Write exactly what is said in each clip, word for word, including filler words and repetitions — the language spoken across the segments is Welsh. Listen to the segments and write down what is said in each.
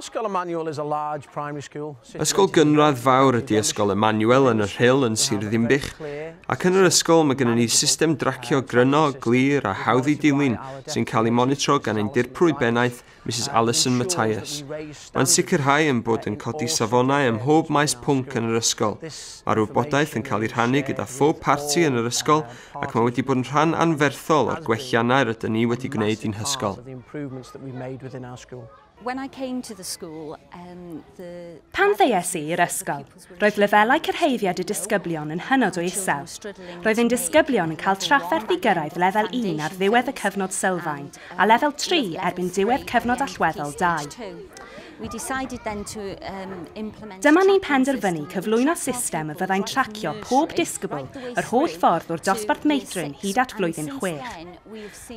Ysgol Emmanuel is a large primary school. Ysgol gynradd fawr ydy Ysgol Emmanuel yn y Rhyl yn Sir Ddinbych, ac yn yr ysgol mae gennym ni system dracio gryno, glir a hawdd i dilyn sy'n cael ei monitro gan ein dirprwy bennaeth, Mrs Alison Matthias. Mae'n sicrhau ein bod yn codi safonau ym mhob maes pwnc yn yr ysgol. Mae'r wybodaeth yn cael ei rhannu gyda phob parti yn yr ysgol ac mae wedi bod yn rhan anferthol o'r gwelliannau rydyn ni wedi gwneud i'n hysgol. When I came to the school, um, the Pan ddaethais i i'r ysgol, roedd lefelau cyrhaeddiad y disgyblion yn hynod o isel. Roedd ein disgyblion yn cael trafferth i gyrraedd lefel un ar ddiwedd y cyfnod sylfaen a lefel tri erbyn diwedd cyfnod allweddol dau. We decided then to um, implement Dyma ni'n penderfynu cyflwyno system y fyddai'n tracio pob disgybl yr holl ffordd o'r dosbarth meithrin hyd at flwyddyn chwech.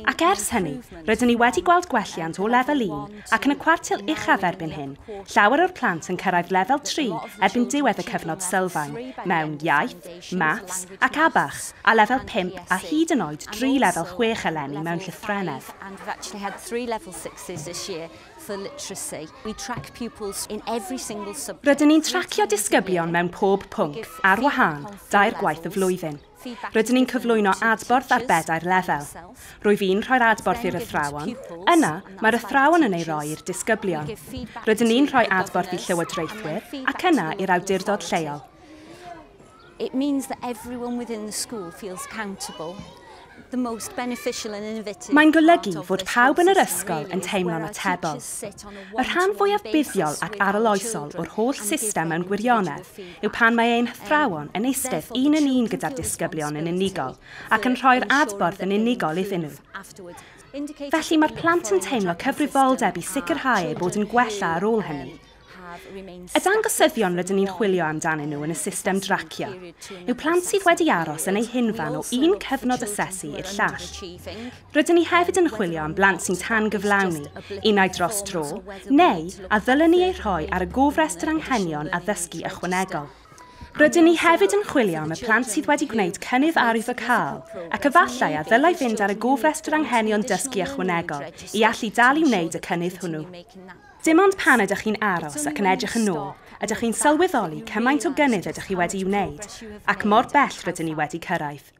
Ac ers hynny, rydyn ni wedi gweld gwelliant o lefel un ac yn y cwartil uchaf erbyn hyn, llawer o'r plant yn cyrraedd lefel tri erbyn diwedd y cyfnod sylfaen, mewn iaith, maths ac A B A C, a lefel pump a hyd yn oed dri lefel chwech eleni mewn llythrennedd. And we've actually had three level sixes this year for literacy. We track pupils in every single subject. Rydyn ni'n tracio disgyblion mewn pob pwnc, ar wahân, dair gwaith y flwyddyn. Rydyn ni'n cyflwyno adborth ar bedair lefel. Rwyf i'n rhoi'r adborth i'r athrawon, yna mae'r athrawon yn ei roi i'r disgyblion. Rydyn ni'n rhoi adborth i llywodraethwyr ac yna i'r awdurdod lleol. It means that everyone within the school feels accountable. The most beneficial and innovative. Mae'n golygu fod pawb yn yr ysgol yn teimlo'n atebol. Y rhan fwyaf buddiol ac arloesol o'r holl system mewn gwirionedd yw pan mae ein hathrawon yn eistedd un yn un gyda'r disgyblion yn unigol ac yn rhoi'r adborth yn unigol iddyn nhw. Felly mae'r plant yn teimlo cyfrifoldeb i sicrhau eu bod yn gwella ar ôl hynny. Y dangosyddion rydyn ni'n chwilio amdanyn nhw yn y system dracio yw plant sydd wedi aros yn eu hunfan o un cyfnod asesu i'r llall. Rydyn ni hefyd yn chwilio am blant sy'n tan gyflawni, unai dros dro, neu a ddylen ni eu rhoi ar y gofrestr anghenion addysgu ychwanegol. Rydyn ni hefyd yn chwilio am y plant sydd wedi gwneud cynnydd arwyddocaol ac efallai a ddylai fynd ar y gofrestr anghenion dysgu ychwanegol i allu dal i wneud y cynnydd hwnnw. Dim ond pan ydych chi'n aros ac yn edrych yn ôl, ydych chi'n sylweddoli cymaint o gynnydd ydych chi wedi wneud, ac mor bell rydyn ni wedi cyrraedd.